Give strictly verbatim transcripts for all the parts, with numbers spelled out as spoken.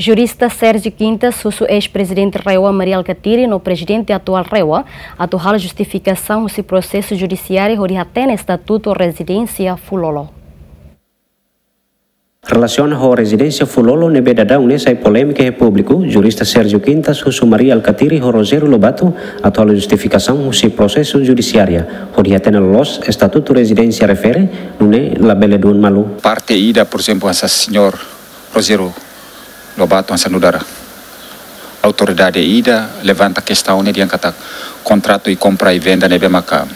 Jurista Sérgio Quintas husu eis-prezidente RAEOA Mari Alkatiri no prezidente atuál RAEOA atu halo justifikasaun husi prosesu judisiáriu hodi hatene estatutu rezidénsia Fulolo. Relasiona ho rezidénsia Fulolo ne'ebé daudaun ne'e sai polémika iha públiku, jurista Sérgio Quintas husu Mari Alkatiri ho Rogério Lobato atu halo justifikasaun husi prosesu judisiáriu hodi hatene loloos estatutu rezidénsia refere, nune'e labele duun malu. Parte ida, por ezemplu, hanesan señór Rogério Lobato hanesan nu'udar autoridade ida levanta kestaun ne'e dehan katak kontratu i kompra i venda ne'ebé maka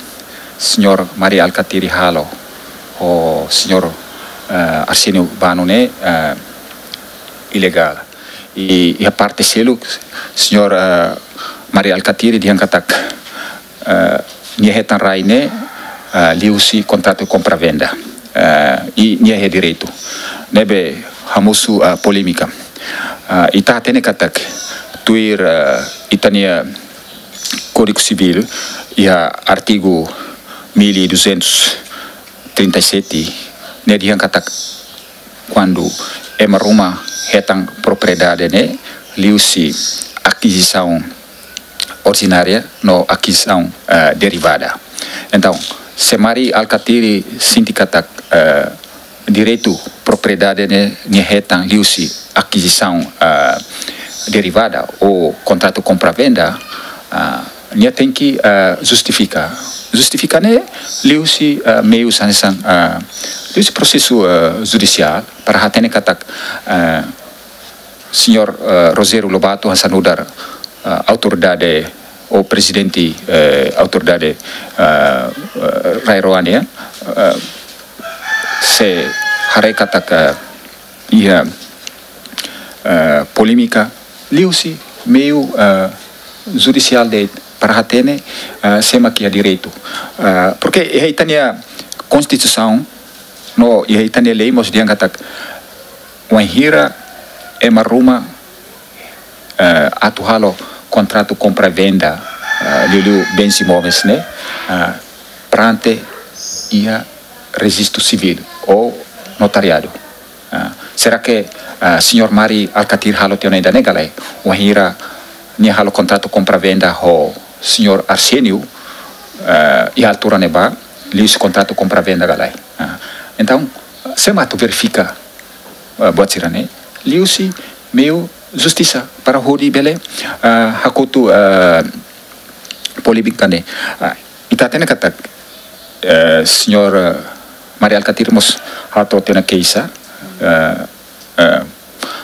señór Mari Alkatiri halo ho señór, eh, Arsénio Bano ne'e, eh, ilegál. I, iha parte seluk, señór, eh, Mari Alkatiri dehan katak, eh, nia hetan rai ne'e, eh, liuhusi kontratu kompra-venda. Eh, i nia iha direitu. Ne'ebé hamosu, eh, polémika. Eh, ita hatene katak tuir, eh, ita-nia Kódigu Sivíl iha artigu mil e duzentos trinta e sete ne'e dehan katak kuandu ema ruma hetan propriedade ne'e liuhusi akizisaun orijinária no akizisaun, eh, derivada. Entaun, se Mari Alkatiri sente katak, eh, direitu propriedade ne'e nia hetan liuhusi akizisaun, eh, derivada ou kontratu kompra-venda, eh, nia tenke, eh, justifika. Justifika ne'e liuhusi, eh, meius hanesan, eh, liuhusi prosesu, eh, judisiál para hatene katak, eh, señór, eh, Rogério Lobato hanesan nu'udar, eh, autoridade ou prezidente, eh, autoridade, eh, eh, RAEOA nian, eh, sei haree katak, eh, iha, eh, polémika liuhusi meiu, eh, judisiál de'it para hatene, eh, sé mak iha direitu. Eh, porke iha ita-nia Konstituisaun no iha ita-nia lei mós dehan katak wainhira ema ruma, eh, atu halo kontratu kompra-venda, eh, liuliu bens imóveis ne'e, eh, preenxe iha rejistu sivíl ou notariadu. Ah, será que, ah, señór Mari Alkatiri halo tiha ona ida-ne'e ka lae? Wainhira nia halo kontratu kompra-venda ho señór Arsénio, ah, iha altura ne'ebá, liuhusi kontratu kompra-venda ka lae? Ah, entaun, sé mak atu verifika, ah, buat sira-ne'e? Liuhusi meiu justisa para hodi bele, ah, hakotu, ah, polémika ne'e. Ah, ita hatene katak, eh, señór, eh, Mari Alkatiri mós hato'o tiha ona keixa, eh, eh,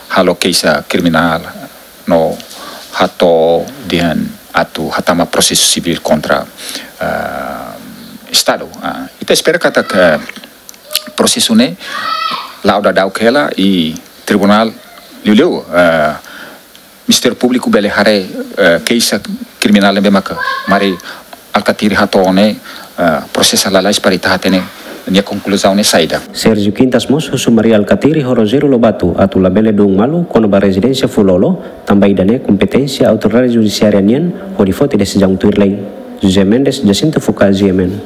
halo keixa kriminál no hato'o dehan atu hatama prosesu sivíl kontra, eh, Estadu. Ah, ita espera katak, eh, prosesu ne'e la'o daudauk hela i tribunál liuliu, eh, Ministériu Públiku bele haree, eh, keixa kriminál ne'ebé maka Mari Alkatiri hato'o ne'e, eh, prosesa lalais para ita hatene nia konkluzaun ne'e saida. Sérgio Quintas mós husu Mari Alkatiri ho Rogério Lobato atu labele duun malu kona-ba rezidénsia Fulolo, tanba ida-ne'e kompeténsia autoridade judisiária nian hodi foti desizaun tuir lei. José Mendes, Jacinto Focas, G M N.